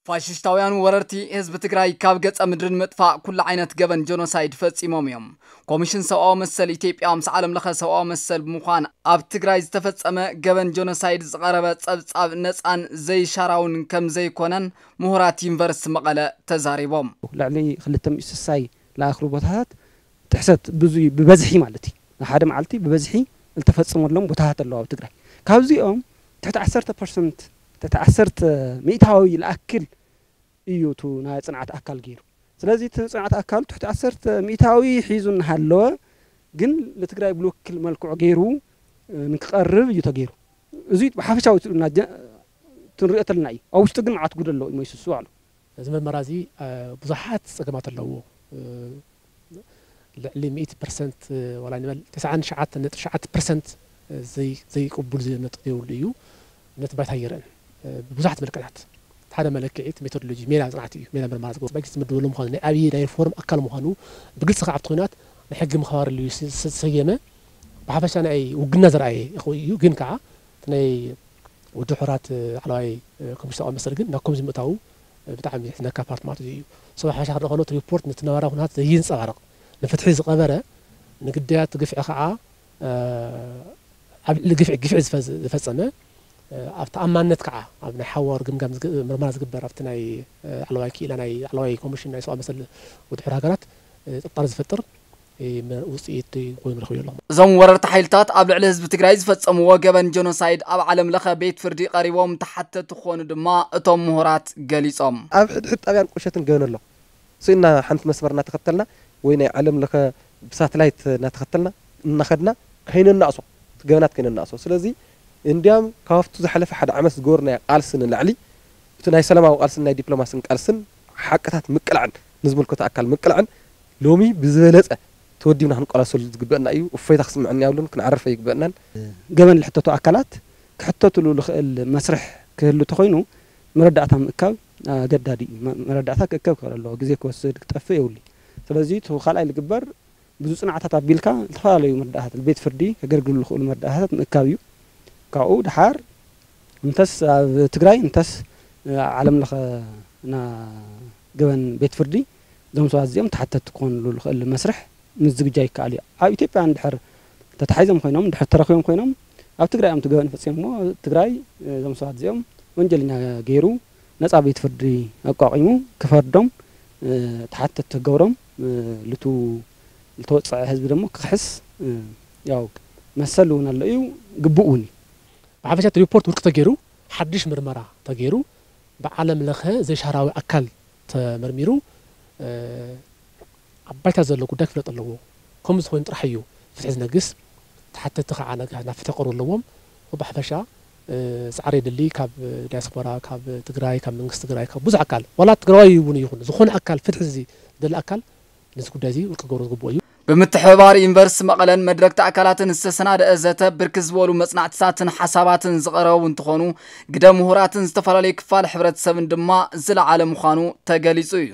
ፋሽስታውያን ወረርቲ ህዝቢ ትግራይ ካብ ገጸ ምድሪ ንምጥፋእ ኩሉ ዓይነት ገበን ጀኖሳይድ ፈጺሞም እዮም። ኮሚሽን ሰብኣዊ መሰል ኢትዮጵያ ምስ ዓለም ለኸ ሰብኣዊ መሰል ብምዃን ኣብ ትግራይ ዝተፈጸመ ገበን ጀኖሳይድ ዝቐረበ ጸብጻብ ነጻን ዘይሻራውን ከም ዘይኮነን ምሁራት ዩኒቨርሲቲ መቐለ ተዛሪቦም። ልዕሊ ክልተ ሚእቲ ስሳይ ለኣኽሉ ቦታታት ጥሕሰት ብዙ ብበዝሒ ማለት እዩ። ንሓደ መዓልቲ ብበዝሒ ዝተፈጸመሎም ቦታታት ኣለዉ ኣብ ትግራይ። ካብዚኦም ትሕቲ ዓሰርተ ፐርሰንት፣ ትሕቲ ዓሰርተ ሚእታዊ ዝኣክል እዩ እቲ ናይ ጽንዓት ኣካል ገይሩ። ስለዚ እቲ ጽንዓት ኣካል ትሕቲ ዓሰርተ ሚእታዊ ሒዙ እናሃለወ ግን ንትግራይ ብልውክል መልክዑ ገይሩ ንክቐርብ እዩ ተገይሩ። እዚ ብሓፈሻዊ እቲ ንሪኦ ተለና እዩ። ኣብ ውሽጡ ግን መዓት ጉድ ኣለዎ እዩ መይስሱ ኣሎ። እዚ ምርመራ እዚ ብዙሓት ፀገማት ኣለዎ። ልዕሊ ሚእቲ ፐርሰንት ዋላ ንበል ተስዓን ትሽዓተ ነጥቢ ትሽዓተ ፐርሰንት ዘይቅቡል ነጥቢ የብሉ እዩ። ነቲ ባይታ ይረአን ብብዙሓት መልክዓት ሓደ መለክዒ እቲ ሜቶዶሎጂ ሜላ ፅንዓት እዩ። ሜላ ምርመራ ዝገብሩ ባጀት ዝምድበሉ ምዃኑ ናይ ኣብይ ናይ ሪፎርም ኣካል ምዃኑ ብግልፂ ከዓ ኣብቲ ኩናት ናይ ሕጊ ምኽባር ኢሉ ዝተሰየመ ብሓፈሻ ናይ ውግና ዘርኣየ እዩ። ግን ከዓ እቲ ናይ ውድብ ሕቡራት ላዕለዋይ ኮሚሽን ሰብኣዊ መሰል ግን ናብ ከምዚ ምእታዉ ብጣዕሚ ዝሕዝነካ ፓርት ማለት እዩ። ሰብ ሓፈሻ ክንርኢ ከሎ እቲ ሪፖርት ነቲ ነባራዊ ኩነታት ዘየንፀባርቕ ንፍትሒ ዝቐበረ ንግዳያት ግፍዒ ከዓ ኣብ ልዕሊ ግፍዒ ግፍዒ ዝፈፀመ ኣብ ተኣማንነት ከዓ ኣብ ናይ ሓዋሩ ግምጋም ምርመራ ዝግበር ኣብቲ ናይ ላዕለዋይ ክኢላ ናይ ላዕለዋይ ኮሚሽን ናይ ሰብኣዊ መሰል ውድብ ሕቡራት ሃገራት ጥርጣረ ዝፈጥር ውፅኢት ኮይኑ ረኽበዮ ኣለኹ። እዞም ወረርቲ ሓይልታት ኣብ ልዕሊ ህዝቢ ትግራይ ዝፈፀምዎ ገበን ጀኖሳይድ ኣብ ዓለም ለኸ ቤት ፍርዲ ቀሪቦም ተሓተቲ ክኾኑ ድማ እቶም ምሁራት ገሊፆም። ኣብ ሕድሕድ ጣብያን ቁሸትን ገበን ኣሎ። ስኢና ሓንቲ መስመር እናተኸተልና ወይ ናይ ዓለም ለኸ ብሳተላይት እናተኸተልና እናኸድና ከይነናእሶ እቲ ገበናት ከይነናእሶ። ስለዚ እንዲያም ካብቱ ዝሓለፈ ሓደ ዓመት ዝገበርናዮ ቃልሲ ንላዕሊ እቲ ናይ ሰላማዊ ቃልስን ናይ ዲፕሎማስን ቃልስን ሓቅታት ምቅላዕን ንዝምልከቶ ኣካል ምቅላዕን ሎሚ ብዝበለፀ ተወዲብና ክንቀላሰሉ ዝግበአና እዩ። እፎይታ ክስምዐና የብሉን፣ ክንዓርፍ ኣይግበአናን። ገበን ልሕተቱ ኣካላት ክሕተትሉ ዝኽእል መስርሕ ክህሉ ተኾይኑ መረዳእታ ምእካብ ኣገዳዲ እዩ። መረዳእታ ክእከብ ክኽእል ኣለዎ፣ ግዜ ክወስድ ክጠፍእ የብሉ። ስለዚ እቲ ካልኣይ ዝግበር ብዙ ፅንዓታት ኣቢልካ ዝተፈላለዩ መረዳእታት ቤት ፍርዲ ከገልግሉ ዝኽእሉ መረዳእታት ምእካብ እዩ። ካብኡ ድሓር እንተስ ኣብ ትግራይ እንተስ ዓለም ለኸ ና ገበን ቤት ፍርዲ እዞም ሰባት እዚኦም ተሓተቲ ክኾንሉ ዝኽእል መስርሕ ምዝግጃ ይከኣል እዩ። ኣብ ኢትዮጵያ እንድሕር ተታሒዞም ኮይኖም እንድሕር ተረኺቦም ኮይኖም ኣብ ትግራይ እዮም እቲ ገበን ፈፂሞሞ ትግራይ እዞም ሰባት እዚኦም ወንጀለኛ ገይሩ ነፃ ቤት ፍርዲ ኣቋቒሙ ክፈርዶም ተሓተቲ ክገብሮም ልቱ ዝተወፀዐ ህዝቢ ደሞ ክኽሕስ ያው መሰል እውን ኣሎ እዩ ግቡእ እውን እዩ። ብሓፈሻ እቲ ሪፖርት ውድቂ ተገይሩ ሓድሽ ምርመራ ተገይሩ ብዓለም ለኸ ዘይሻራዊ ኣካል ተመርሚሩ ኣብ ባይታ ዘሎ ጉዳይ ክፍለጥ ኣለዎ። ከምኡ ዝኾይኑ ጥራሕ እዩ ፍትሒ ዝነግስ። ተሓተቲ ከዓ ነገራት ናብ ፍትሒ ክቐርቡ ኣለዎም። ብሓፈሻ ፃዕሪ የድሊ ካብ ዲያስፖራ፣ ካብ ትግራይ፣ ካብ መንግስቲ ትግራይ፣ ካብ ብዙሕ ኣካል ዋላ ትግራዋይ እውን ይኹን ዝኾነ ኣካል ፍትሒ ዝደሊ ኣካል ነዚ ጉዳይ እዚ ውድቂ ክገብሮ ዝግብኦ እዩ። ብምትሕብባር ዩኒቨርሲቲ መቐለን መድረክቲ ኣካላትን ዝተሰናደአ ዘተ ብርክት ዝበሉ መፅናዕትታትን ሓሳባትን ዝቐረቡ እንትኾኑ ግደ ምሁራትን ዝተፈላለዩ ክፋል ሕብረተሰብን ድማ ዝለዓለ ምዃኑ ተገሊፁ እዩ።